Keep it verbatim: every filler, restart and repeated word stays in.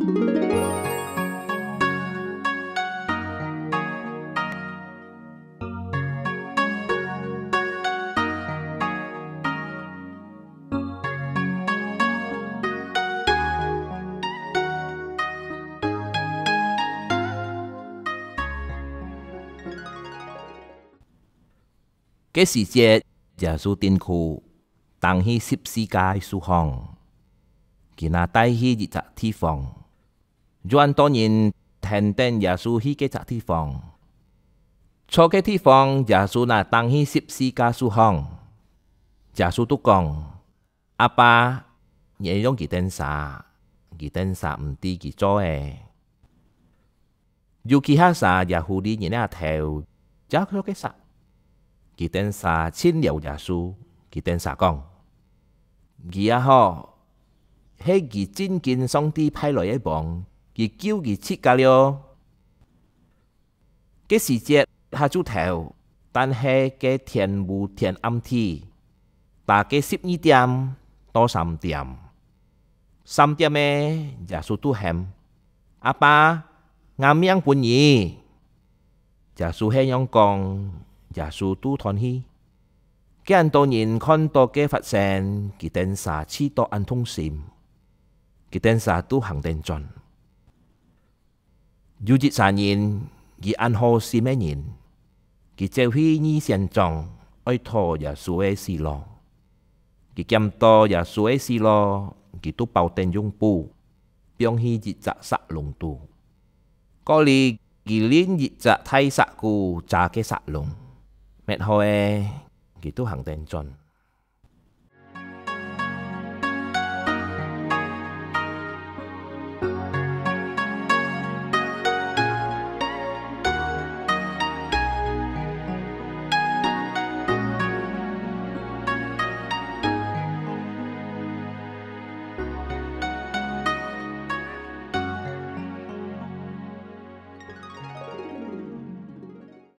該時節，耶穌釘苦，釘去十字架个樹項，佢拿帶去一隻地方。有恁多人跈等耶穌去該隻地方。坐該地方，耶穌拿釘去十字架樹項。耶穌都講：「阿爸，原諒佢等儕，佢等儕毋知佢做个。」有幾下儕也狐狸人个頭，接著該儕。佢等儕盡了耶穌，佢等儕講：「佢啊吼，係佢真經上帝派來个王，佢救佢自家了。」該時節下晝頭，但係該天烏天暗地，打該十二點到三點。三點个，耶穌都喊：「阿爸，𠊎命分你！」耶穌係仰講，耶穌都斷氣。該恁多人看到該發生，佢等儕試著恁痛心，佢等儕都行等轉。有一儕人，佢恁好心个人，佢走去議選長，愛討耶穌个死路。佢撿著耶穌个死路，佢都包等用布，放去一隻石籠肚。過來，佢另一隻大石牯遮該石籠，搣好个，佢都行等轉。